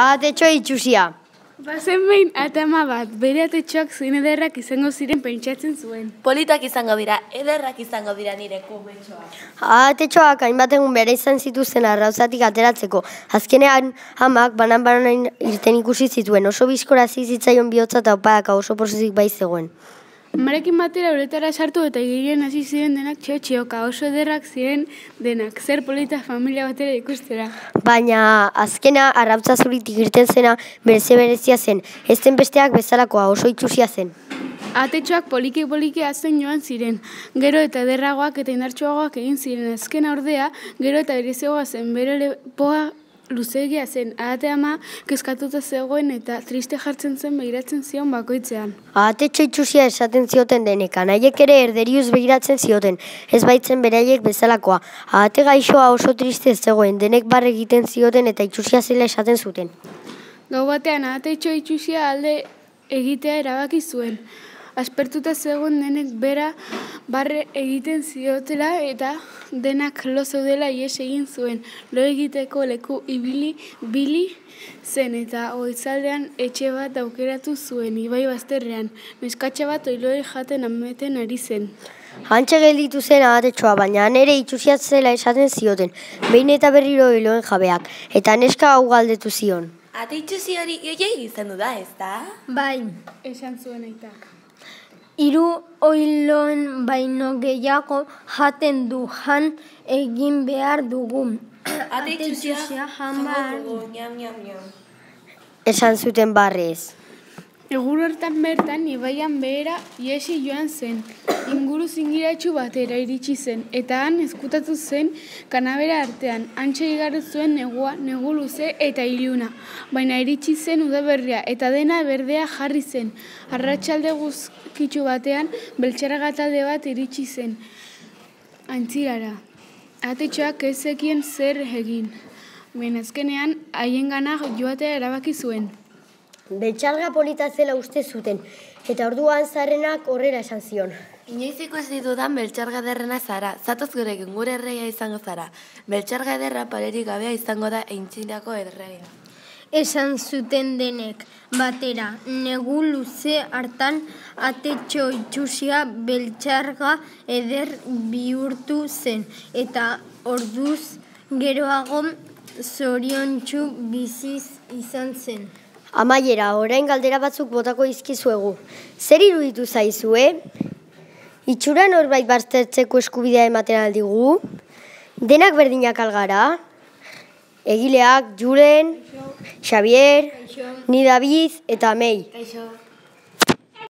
Ahatetxoa itxusia. Bazen behin atama bat, bere atetxoak zein ederrak izango ziren pentsatzen zuen. Politak izango dira, ederrak izango dira nire kumetxoak. Ahatetxoak hainbat egun bere izan zituzten arrauzatik ateratzeko. Azkenean amak banan irten ikusi zituen. Oso bizkora zitzaion bihotza eta opadaka oso pozik bai zegoen. Amarekin batera uretara sartu eta igirien hasi ziren denak txotxioka, oso ederrak ziren denak, zer polita familia batera ikustera. Baina azkena arrautza zuritik irten zena berezia zen. Ez zen besteak bezalakoa, oso itxusia zen. Ahatetxoak poliki azten joan ziren, gero eta ederragoak eta indartsuagoak egin ziren. Azkena ordea, gero eta bereziagoa zen, bere lepoa luzeegia zen. Ahate ama kezkatuta zegoen eta triste jartzen zen begiratzen zion bakoitzean. Ahatetxo itxusia esaten zioten denek, anaiek ere erderiuz begiratzen zioten, ez baitzen beraiek bezalakoa. Ahate gaixoa oso triste zegoen, denek barre egiten zioten eta itxusia zela esaten zuten. Gau batean ahatetxo itxusia alde egitea erabaki zuen. Aspertuta zegoen denek bera barre egiten ziotela eta denak lo zeudela ihes egin zuen. Lo egiteko leku ibili zen eta goizaldean etxe bat aukeratu zuen ibai bazterrean. Neskatxa bat oiloei jaten ameten ari zen. Hantxe gelditu zen ahatetxoa, baina ere itxusia zela esaten zioten, behin eta berriro oiloen jabeak, eta neska hau galdetu zion. Ate itxusi hori gehiagik izan du da, ez da? Bai, Esan zuen aitak. 3 oiloen baino gehiago jaten du, jan egin behar dugu. Ate itxusia jan jango behar dugu, ñam. Esan zuten barrez. Egun hortan bertan ibaian behera iesi joan zen. Inguru zingiratsu batera iritsi zen, eta han ezkutatu zen kanabera artean. Hantxe igaro zuen negua, negu luze eta iluna. Baina iritsi zen udaberria, eta dena berdea jarri zen. Arratsalde guzkitsu batean, beltxarraga talde bat iritsi zen. Aintzirara. Ahatetxoak ez zekien zer egin. Baina azkenean, haiengana joatea erabaki zuen. Beltxarga polita zela uste zuten, eta orduan zarrenak horrela esan zion. Inoiziko ez ditudan beltxarga ederrena zara, zatoz gurekin gure erreia izango zara. Beltxarga ederra parerik gabea izango da Aintzirako erreia. Esan zuten denek batera, negu luze hartan ahatetxo itxusia beltxarga eder bihurtu zen, eta orduz geroago zoriontsu biziz izan zen. Amaiera, orain galdera batzuk botako izkizuegu. Zer iruditu zaizue? Itxura norbait baztertzeko eskubidea ematen aldigu? Denak berdinak algara? Egileak, Julen, Xavier, ni David eta Mei. Kaixo.